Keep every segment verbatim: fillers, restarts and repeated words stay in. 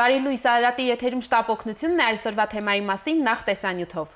Բարի լույս, Արարատի եթերում շտապ օգնությունն է այսօրվա թեմայի մասին նախ տեսանյութով։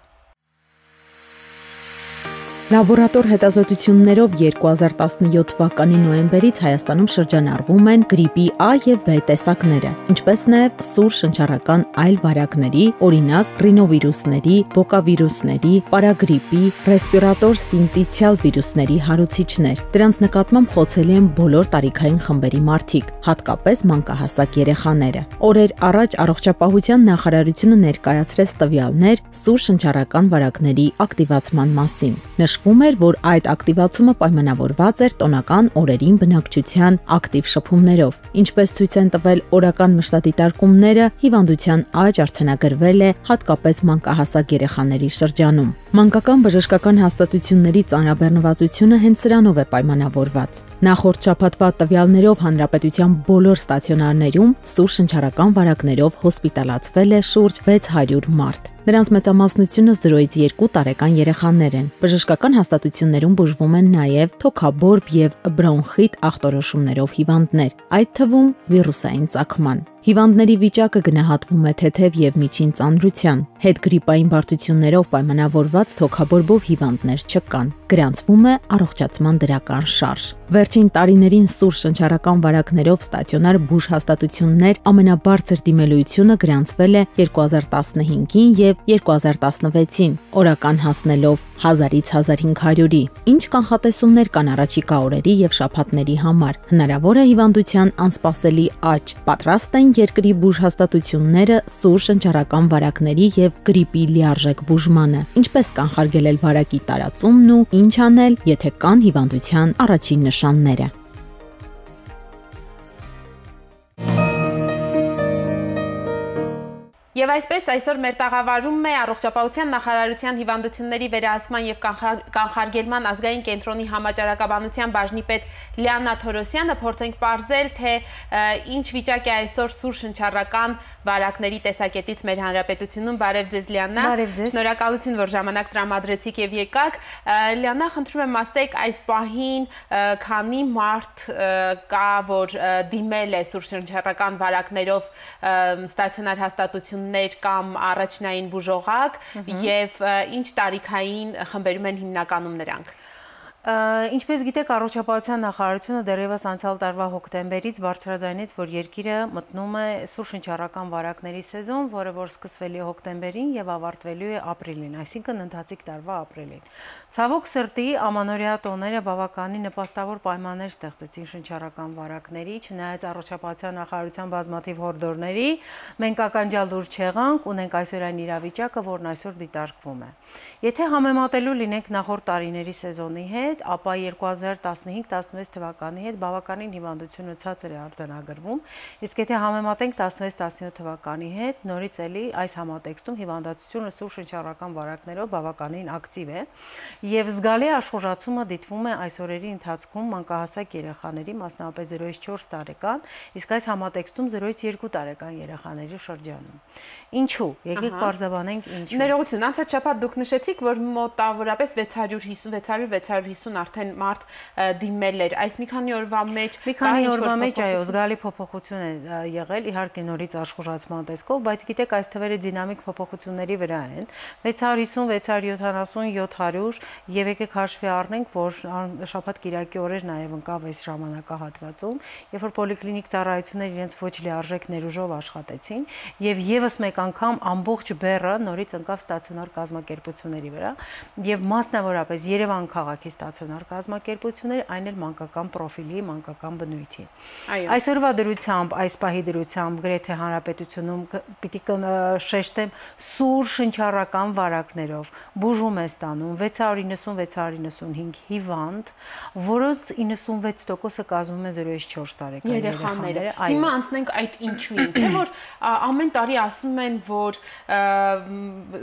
Լաբորատոր հետազոտություններով երկու հազար տասնյոթ թվականի նոյեմբերից Հայաստանում շրջանառվում են գրիպի A և B տեսակները, ինչպես նաև սուր շնչառական այլ վարակների, օրինակ ռինովիրուսների, բոկավիրուսների, պարագրիպի, ռեսպիրատոր սինտիցիալ վիրուսների հարուցիչներ։ Դրանց նկատմամբ խոցելի են բոլոր տարիքային խմբերի մարդիկ, հատկապես մանկահասակ երեխաները։ Օրեր առաջ Առողջապահության նախարարությունը ներկայացրեց տվյալներ սուր շնչառական վարակների ակտիվացման մասին։ Նշվում էր, որ այդ ակտիվացումը պայմանավորված էր տոնական օրերին բնակչության ակտիվ շփումներով։ Ինչպես ցույց են տվել օրական մշտադիտարկումները, հիվանդության աճ արձանագրվել է հատկապես մանկահասակ երեխաների շրջանում։ Մանկական բժշկական հաստատությունների ծանրաբեռնվածությունը հենց սրանով է պայմանավորված։ Նախորդ շաբաթվա տվյալներով հանրապետության բոլոր ստացիոնարներում սուր շնչառական վարակներով հոսպիտալացվել է շուրջ վեց հարյուր մարդ։ Նրանց մեծամասնությունը զրոյից երկու տարեկան երեխաներ են։ Բժշկական հաստատություններում բուժվում են նաև թոքաբորբ եւ բրոնխիտ ախտորոշումներով հիվանդներ, այդ թվում վիրուսային ծագման։ Հիվանդների վիճակը գնահատվում է թեթև եւ միջին ծանրության։ Հետգրիպային բարդություններով պայմանավորված թոքաբորբով հիվանդներ չկան։ Գրանցվում է առողջացման դրական շարժ։ Վերջին տարիներին սուր շնչառական վարակներով ստացիոնար բուժհաստատություններ ամենաբարձր դիմելույությունը գրանցվել է երկու հազար տասնհինգին եւ երկու հազար տասնվեցին, օրական հասնելով հազարից հազար հինգ հարյուրի։ Ինչ կանխատեսումներ կան առաջիկա օրերի եւ շաբաթների համար։ Հնարավոր է հիվանդության անսպասելի աճ։ Պատրաստ են երկրի բուժհաստատությունները սուր շնչառական վարակների եւ գրիպի լիարժեք բուժմանը։ Ինչպես կանխարգելել վարակի տարածումն ու ինչ անել, եթե կան հիվանդության առաջին նշանները։ Եվ այսպես այսօր մեր տաղավարում է Առողջապահության նախարարության հիվանդությունների վերահսկման եւ կանխարգելման ազգային կենտրոնի համաճարակաբանության բաժնի պետ Լիաննա Թորոսյանը։ Փորձենք պարզել, թե ինչ վիճակ է այսօր սուր շնչառական վարակների տեսակետից մեր հանրապետությունում։ Բարև ձեզ, Լիաննա։ Շնորհակալություն, որ ժամանակ տրամադրեցիք եւ եկաք։ Լիաննա, խնդրում եմ ասեք, այս պահին քանի մարդ կա, որ դիմել է սուր շնչառական վարակներով ստացիոնար հաստատություն կամ առաջնային բուժողակ եւ ինչ տարիքային խմբերում են հիմնականում նրանք։ Ինչպես գիտեք, Առողջապահության նախարարությունը դեռևս անցյալ տարվա հոկտեմբերից բարձրաձայնեց, որ երկիրը մտնում է սուր շնչառական վարակների սեզոն, որը որ սկսվելի է հոկտեմբերին եւ ավարտվելու է ապրիլին, այսինքն ընթացիկ տարվա ապրիլին։ Ցավոք սրտի, ամանորյա տոները բավականին նպաստավոր պայմաններ ստեղծեցին շնչառական վարակների, չնայած Առողջապահության նախարարության բազմաթիվ հորդորների, մենք ականջալ դուր չեղանք, ունենք այսօր այն իրավիճակը, որն այսօր դիտարկվում է։ Եթե համեմատելու լինենք նախորդ տարիների սեզոնի հետ, ապա երկու հազար տասնհինգ տասնվեց թվականի հետ բավականին հիվանդությունը ցածր է արձանագրվում, իսկ եթե համեմատենք տասնվեց տասնյոթ թվականի հետ, նորից էլի այս համատեքստում հիվանդացությունը սուր շնչառական վարակներով բավականին ակտիվ է եւ զգալի աշխուժացումը դիտվում է այս օրերի ընթացքում մանկահասակ երեխաների, մասնավորապես զրոյից չորս տարեկան, իսկ այս համատեքստում զրոյից երկու տարեկան երեխաների շրջանում։ Ինչու՞։ Եկեք պարզաբանենք ինչու։ Ներողություն, անցած շաբաթ դուք նշեցիք, որ մոտավորապես վեց հարյուր հիսուն վեց հարյուր վեց հարյուր հիսուն արդեն մարդ դիմել էր։ Այս մի քանի օրվա մեջ մի քանի օրվա մեջ այո, զգալի փոփոխություն է եղել, իհարկե նորից աշխուժացման տեսքով, բայց գիտեք, այս թվերը դինամիկ փոփոխությունների վրա են։ վեց հարյուր հիսուն, վեց հարյուր յոթանասուն, յոթ հարյուր եւ եկեք հաշվի առնենք, որ շաբաթ կիրակի օրեր նաեւ ընկավ այս ժամանակահատվածում, երբ որ պոլիկլինիկ ծառայությունները իրենց ոչ լիարժեք ներուժով աշխատեցին եւ եւս մեկ անգամ ամբողջ բեռը նորից ընկավ ստացիոնար կազմակերպությունների վրա եւ մասնավորապես Երևան քաղաքի ստացիոնար կազմակերպություններ, այն էլ մանկական պրոֆիլի, մանկական բնույթի։ Այսօրվա դրությամբ, այս պահի դրությամբ գրեթե հանրապետությունում պիտի շեշտեմ սուր շնչառական վարակներով բուժում է ստանում վեց հարյուր իննսուն վեց հարյուր իննսունհինգ հիվանդ, որոնց իննսունվեց տոկոսը կազմում է զրոյից չորս տարեկան երեխաները։ Հիմա անցնենք այդ ինչուին, չէ՞ որ ամեն տարի ասում են, որ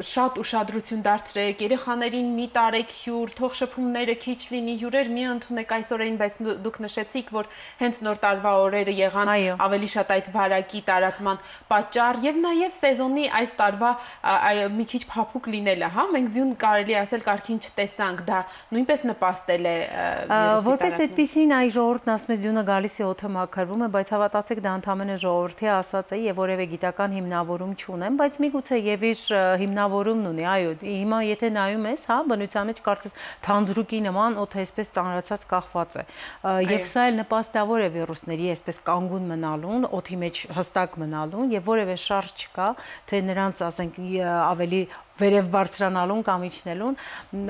շատ ուշադրություն դարձրեք երեխաներին, մի տարեք հյուր, թող շփումները քիչ քիչ լինի հյուրեր, մի ընդունեք այս օրերին, բայց դուք նշեցիք, որ հենց նոր տարվա օրերը եղան ավելի շատ այդ վարակի տարածման պատճառ եւ նաեւ սեզոնի այս տարվա մի քիչ փափուկ լինելը, հա, մենք ձյուն կարելի ասել կարգին չտեսանք, դա նույնպես նպաստել է վիրուսի որպես այդպեսին այ ժողովուրդն ասում է ձյունը գալիս է օդը մաքրվում է, բայց հավատացեք դա ընդհանրապես ժողովրդի ասած է եւ որևէ գիտական հիմնավորում չունեմ, բայց միգուցե եւ իր հիմնավորումն ունի, այո, հիմա եթե նայում ես, հա, բնության մեջ կարծես թանձրուկի նման օդը այսպես ծանրացած կախված է եւ սա էլ նպաստավոր է վիրուսների այսպես կանգուն մնալուն, օդի մեջ հստակ մնալուն եւ որևէ շարժ չկա, թե նրանց ասենք ավելի վերև բարձրանալուն կամ իջնելուն,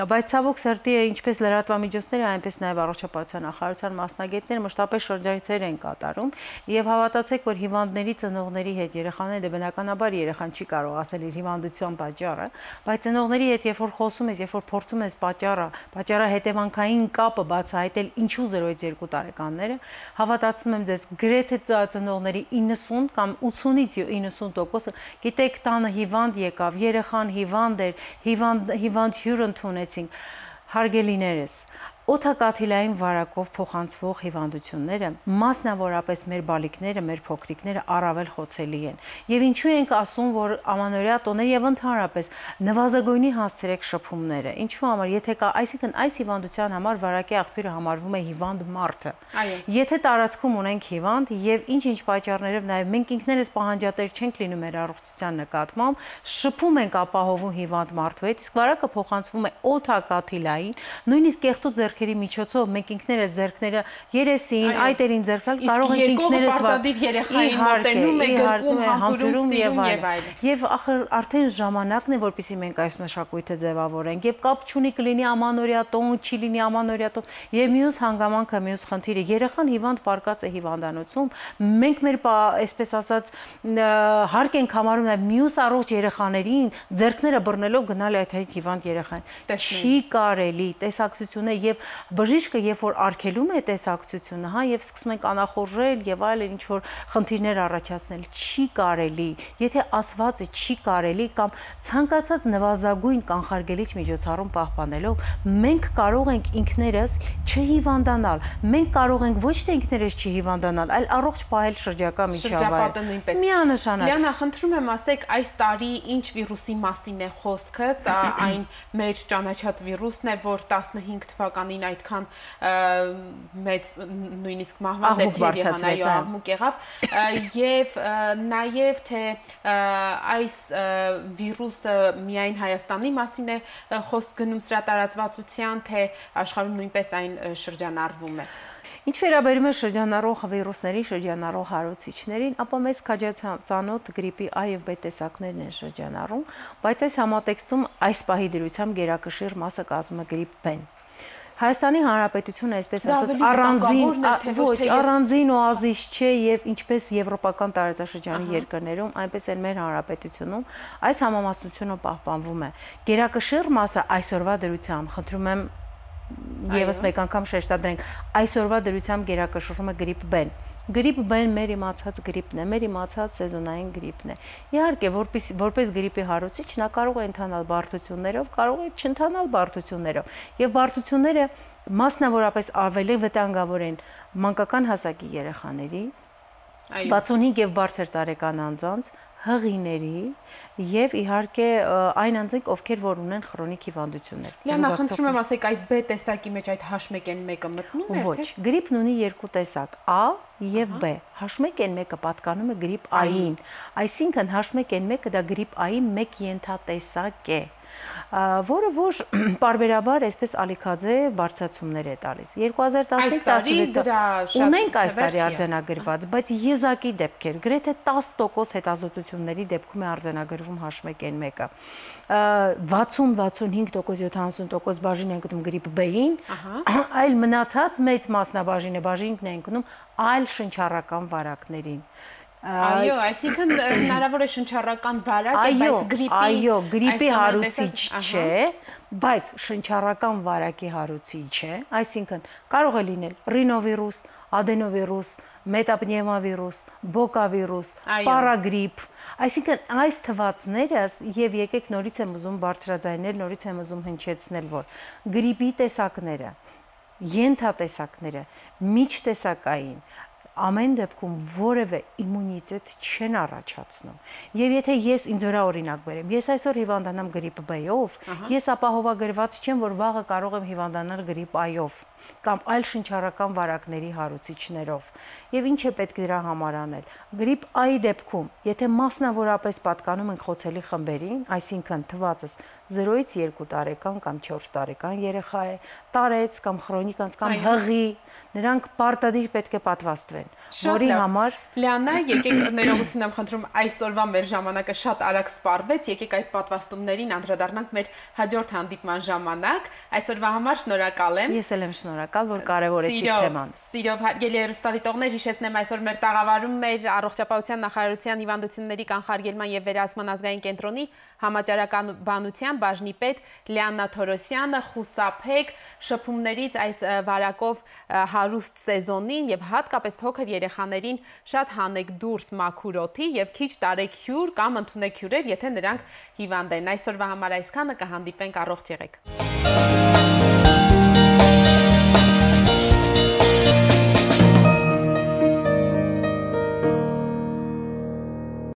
բայց ցավոք սրտի ինչպես լրատվամիջոցները, այնպես նաև առողջապահության նախարարության մասնագետները մշտապես շրջայցեր են կատարում եւ հավատացեք, որ հիվանդների ծնողների հետ երեխաները դե բնականաբար երեխան չի կարող ասել իր հիվանդության պատճառը, բայց ծնողների հետ երբ որ խոսում ես, երբ որ փորձում ես պատճառը, պատճառը հետևանքային կապը բացահայտել ինչու զրոյից երկու տարեկանները, հավատացնում եմ ձեզ, գրեթե ծնողների իննսուն կամ ութսունից իննսուն տոկոսը գիտեք տանը հիվանդ եկավ, երեխան հիվանդ հիվանդ հիվանդ հյուր ընդունեցինք, հարգելիներս, օդակաթիլային վարակով փոխանցվող հիվանդությունները, մասնավորապես մեր բալիկները, մեր փոքրիկները առավել խոցելի են։ Եվ ինչու ենք ասում, որ ամանորյա տոներ եւ ընդհանրապես նվազագույնի հասցրեք շփումները։ Ինչու համար, եթե կա, այսինքն այս հիվանդության համար վարակի աղբյուրը համարվում է հիվանդ մարդը։ Եթե տարածքում ունենք հիվանդ եւ ինչ-ինչ պատճառներով նաեւ մենք ինքներս պահանջատեր չենք լինում մեր առողջության նկատմամբ, շփում ենք ապահովում հիվանդ մարդու հետ, իսկ վարակը փոխանցվում է օդակաթիլային, նույնիսկ կեղտու ձեռքերի միջոցով մենք ինքներս ձեռքները երեսին, այտերին ձեռքալ կարող ենք ինքներս պարտադիր երեխային մոտենում է, գրկում, համբուրում եւ այլն։ Եվ ախր արդեն ժամանակն է, որպեսզի մենք այս մշակույթը ձևավորենք եւ կապ չունի կլինի ամանորյա տոն, չի լինի ամանորյա տոն եւ մյուս հանգամանքը, մյուս խնդիրը երեխան հիվանդ պարկած է հիվանդանոցում, մենք մեր այսպես ասած հարկ ենք համարում նաեւ մյուս առողջ երեխաներին ձեռքները բռնելով գնալ այդ հիվանդ երեխային։ Չի կարելի, տեսակցությունը եւ բժիշկը երբ որ արգելում է տեսակցությունը, հա, եւ սկսում ենք անախորժել եւ այլն ինչ որ խնդիրներ առաջացնել, չի կարելի, եթե ասվածը չի կարելի կամ ցանկացած նվազագույն կանխարգելիչ միջոցառում պահպանելով, մենք կարող ենք ինքներս չհիվանդանալ, մենք կարող ենք ոչ թե ինքներս չհիվանդանալ, այլ առողջ պահել շրջակա միջավայրը։ Միանշանակ։ Լիանա, խնդրում եմ ասեք, այս տարի ինչ վիրուսի մասին է խոսքը, սա այն մեր ճանաչած վիրուսն է, որ տասնհինգ թվականին այդքան մեծ նույնիսկ մահվան դեպքեր եղան, այո, աղմուկ եղավ, եւ նաեւ թե այս վիրուսը միայն Հայաստանի մասին է խոսք գնում սրա տարածվածության, թե աշխարհում նույնպես այն շրջանառվում է։ Ինչ վերաբերում է շրջանառող վիրուսների, շրջանառող հարուցիչներին, ապա մեծ քաջացանոթ գրիպի A եւ B տեսակներն են շրջանառում, բայց այս համատեքստում այս պահի դրությամբ գերակշիռ մասը կազմում է գրիպ B-ն։ Հայաստանի Հանրապետությունը այսպես ասած առանձին ոչ առանձին օազիս չէ եւ ինչպես եվրոպական տարածաշրջանի երկրներում, այնպես էլ մեր հանրապետությունում այս համամասնությունը պահպանվում է։ Գերակշիռ մասը այսօրվա դրությամբ, խնդրում եմ եւս մեկ անգամ շեշտադրենք, այսօրվա դրությամբ գերակշռում է գրիպ B-ն։ Գրիպ B-ն մեր իմացած գրիպն է, մեր իմացած սեզոնային գրիպն է։ Իհարկե, որպես որպես գրիպի հարուցիչ նա կարող է ընթանալ բարդություններով, կարող է չընթանալ բարդություններով։ Եվ բարդությունները մասնավորապես ավելի վտանգավոր են մանկական հասակի երեխաների, վաթսունհինգ եւ բարձր տարեկան անձանց, հղիների եւ իհարկե այն անձանք, ովքեր որ ունեն քրոնիկ հիվանդություններ։ Լիանա, խնդրում եմ ասեք, այդ B տեսակի մեջ այդ H one N one-ը մտնում է, թե՞։ Ոչ, գրիպն ունի երկու տեսակ՝ A եւ B։ H one N one-ը պատկանում է գրիպ A-ին, այսինքն H one N one-ը դա գրիպ A-ի մեկ ենթատեսակ է, որը որ պարբերաբար այսպես ալիքաձե բարձրացումներ է տալիս։ երկու հազար տասնհինգ տասնվեց ունենք այս տարի արձանագրված, բայց եզակի դեպքեր, գրեթե տասը տոկոս հետազոտությունների դեպքում է արձանագրվում H one N one-ը։ վաթսուն վաթսունհինգ տոկոս յոթանասուն տոկոս բաժին են գնում գրիպ B-ին, այլ մնացած մեծ մասնաբաժինը բաժինն են գնում այլ շնչառական վարակներին։ Այո, այսինքն հնարավոր է շնչառական վարակ է, բայց գրիպի այո, գրիպի հարուցիչ չէ, բայց շնչառական վարակի հարուցիչ է, այսինքն կարող է լինել ռինովիրուս, ադենովիրուս, մետապնևմավիրուս, բոկավիրուս, պարագրիպ, այսինքն այս թվացները եւ եկեք նորից եմ ուզում բարձրաձայնել, նորից եմ ուզում հնչեցնել, որ գրիպի տեսակները ենթատեսակները միջտեսակային ամեն դեպքում որևէ իմունիտետ չեն առաջացնում։ Եվ եթե ես ինձ վրա օրինակ բերեմ, ես այսօր հիվանդանամ գրիպ B-ով, ես ապահովագրված չեմ, որ վաղը կարող եմ հիվանդանալ գրիպ A-ով կամ այլ շնչառական վարակների հարուցիչներով։ Եվ ինչ է պետք դրա համար անել։ Գրիպ A-ի դեպքում, եթե մասնավորապես պատկանում ենք խոցելի խմբերին, այսինքն թվածս զրոյից երկու տարեկան կամ չորս տարեկան երեխա է, տարեց կամ քրոնիկ կամ հղի, նրանք պարտադիր պետք է պատվաստվեն, որի համար Լիանա, եկեք ներողություն եմ խնդրում, այսօրվա մեր ժամանակը շատ արագ սպառվեց, եկեք այդ պատվաստումներին անդրադառնանք մեր հաջորդ հանդիպման ժամանակ։ Այսօրվա համար շնորհակալ եմ։ Ես էլ եմ շնորհակալ, որ կարևորեցիք թեման։ Սիրով հարգելի հեռուստադիտողներ, հիշեցնեմ այսօր մեր տաղավարում մեր առողջապահության նախարարության հիվանդությունների կանխարգելման եւ վերահսկման ազգային կենտրոնի համաճարականության բաժնի պետ Լիաննա Թորոսյանը խուսափեք շփումներից այս վարակով հարուստ սեզոնին եւ հատկապես փոքր երեխաներին շատ հանեք դուրս մաքուր օդի եւ քիչ տարեք հյուր կամ ընդունեք հյուրեր, եթե նրանք հիվանդ են։ Այսօրվա համար այսքանը, կհանդիպենք, առողջ եղեք։